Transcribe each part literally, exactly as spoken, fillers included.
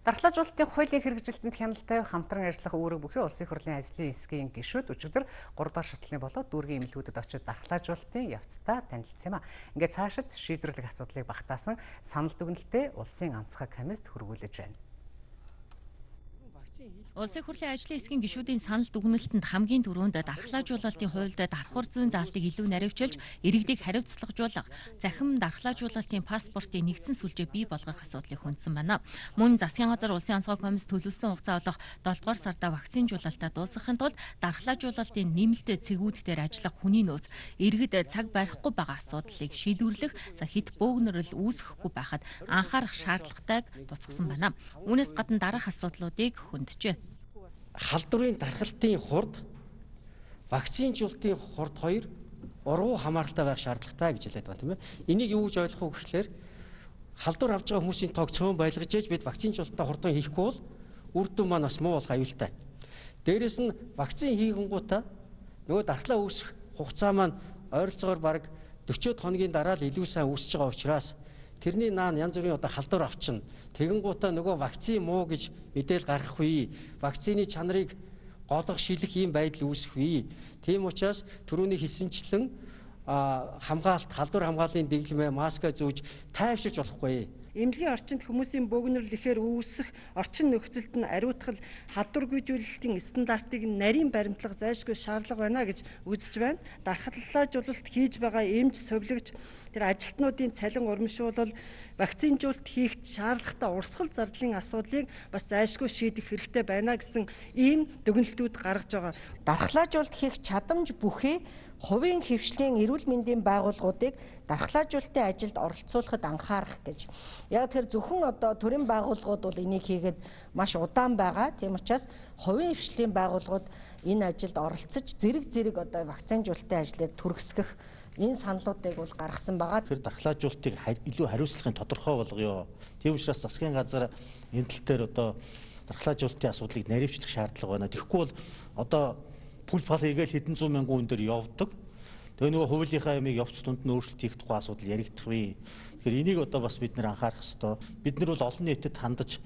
Дархлаажуулалтын хуулийн хэрэгжилтэнд хяналттай хамтран ажиллах үүрэг бүхий улсын хурлын ажлын хэсгийн гишүүд өчигдөр гурав дахь шатлалны болоод дүүргийн эмнэлгүүдэд очиж дархлаажуулалтын явцдаа танилцсан юм а. Ингээд цаашид шийдвэрлэх асуудлыг багтаасан санал дүгнэлтэд улсын онцгой комиссд хөрвүүлж байна. Улсын хурлын ажлын хэсгийн гишүүдийн санал дүгнэлтэнд хамгийн түрүүнд дархлаажуулалтын хуульд давхар зүйн заалтыг илүү наривчилж, иргэдийг хариуцлагажуулах, захин дархлаажуулалтын паспортын нэгдсэн сүлжээ бий болгох асуудлыг хүндсэн байна. Мөн засгийн газар улсын онцгой комисс төлөвлөсөн хугацаа болох долоо дугаар сарда вакцинжуулалтаа дуусгахын тулд дархлаажуулалтын нэмэлт цэгүүд дээр ажиллах хүний нөөц, иргэд цаг барихгүй байгаа асуудлыг шийдвэрлэх, за хит бөөгнөрөл үүсгэхгүй байхад анхаарах шаардлагатайг тусгасан байна. Үүнээс гадна дараах асуудлуудыг хөндөжээ. Халдварын дархлалтын хурд, вакцинжуулалтын хурд хоёр ургуу хамааралтай байх шаардлагатай гэж хэлээд байгаа тийм ээ. Энийг юу гэж ойлгох вэ гэхээр халдвар авч байгаа хүмүүсийн тоог цөөн байлгаж ээж бид вакцинжуулалтаа хурдан хийхгүй бол үр дүн маань бас муу болох аюултай. Дээрээс нь вакцин хийгэнгүүтээ нөгөө дархлаа үүсэх хугацаа маань ойролцоогоор бараг дөрвөн хоногийн дараа л илүү сайн үүсэж байгаа учраас тэрний наан янз бүрийн одоо халдвар авчна. Тэгэнгүүтээ нөгөө вакцин муу гэж мэдээл гаргахгүй. Вакцины чанарыг голох, шилэх ийм байдал үүсэхгүй. Тийм учраас түрүүний хэлсэнчлэн хамгаалалт, халдвар хамгааллын дэглэмээ, маска зүүж тайвширч болохгүй. Эмнэлгийн орчинд хүмүүсийн бөөгнөрл ихээр үүсэх орчин нөхцөлд нь ариутгал халдваргүйжүүлэлтийн стандартыг нарийн баримтлах зайлшгүй шаардлага байна гэж үзэж байна. Дархлаажуулалт хийж байгаа эмч, сувилагч тэр ажилтнуудын цалин урамшуулал, вакцинжуулалт хийх шаардлагатай урсгал зардлын асуудлыг бас зайлшгүй шийдэх хэрэгтэй байна гэсэн ийм дүгнэлтүүд гаргаж байгаа. Дархлаажуулалт хийх чадамж бүхий хувийн хөвшлийн эрүүл мэндийн байгууллагуудыг дархлаажуулалтын ажилд оролцуулахад анхаарах гэж. Яг тэр зөвхөн одоо төрийн байгууллагууд бол энийг хийгээд маш удаан байгаа. Тийм учраас хувийн хөвшлийн байгууллагууд энэ ажилд оролцож зэрэг зэрэг одоо вакцинжуулалтын ажлыг түргэсгэх энэ саналуудыг бол гаргасан байгаа. Тэр дархлаажуулалтыг илүү хариуцлагын тодорхой болгоё. Тийм учраас засгийн газар энэ тал дээр одоо дархлаажуулалтын асуудлыг наривчлах шаардлага байна. Тэгэхгүй бол одоо пул пал хийгээл хэдэн зуун мянган хүн дээр явдаг. Тэгээ нөгөө хуулийнхаа ямиг явц тунд нь өөрчлөлт хийх тухай асуудал яригдах вэ. Тэгэхээр энийг одоо бас бид нэр анхаарах ёстой. Бид нар бол олон нийтэд хандаж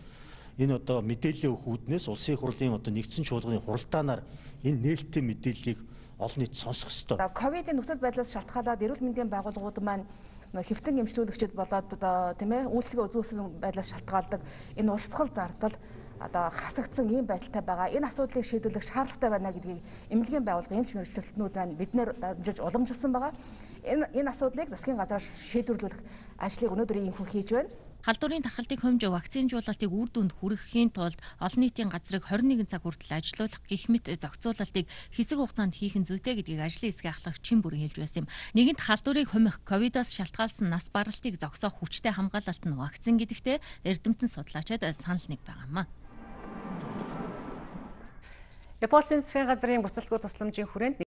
энэ одоо мэдээллийн өгөх үүднээс улсын хурлын одоо нэгдсэн чуулганы хуралдаанаар энэ нээлттэй мэдээллийг олон нийт сонсох ёстой. Ковидын нөхцөл байдлаас шалтгаалаад эрүүл мэндийн байгууллагууд маань хэвтэн эмчлүүлэгчид болоод одоо тийм ээ үйлчлэгээ үзүүлсэн байдлаас шалтгаалдаг энэ урсгал зардал одоо хасагдсан ийм байдалтай байгаа. Энэ асуудлыг шийдвэрлэх шаардлагатай байна гэдгийг эмнэлгийн байгууллага эмч мэргэжилтнүүд маань биднээр дамжуулж уламжилсан байгаа. Энэ энэ асуудлыг засгийн газраас шийдвэрлэх ажлыг өнөөдөр ийхүү хийж байна. Халдварын тархалтыг хэмж вакцинжуулалтыг үр дүнд хүргэхийн тулд олон нийтийн газрыг хорин нэгэн цаг хүртэл ажилуулах гэх мэт зохицуулалтыг хэсэг хугацаанд хийх нь зүйтэй гэдгийг ажлын хэсгийн ахлах чин бүрэн хэлж байсан юм. Нэгэнт халдварыг хумих, ковидоос шалтгаалсан нас баралтыг зогсоох хүчтэй хамгаалалт нь вакцин гэдэгтээ эрдэмтэн судлаачид санал нэг байгаа юм а. Японы засгийн газрын буцалтгүй тусламжийн хүрээнд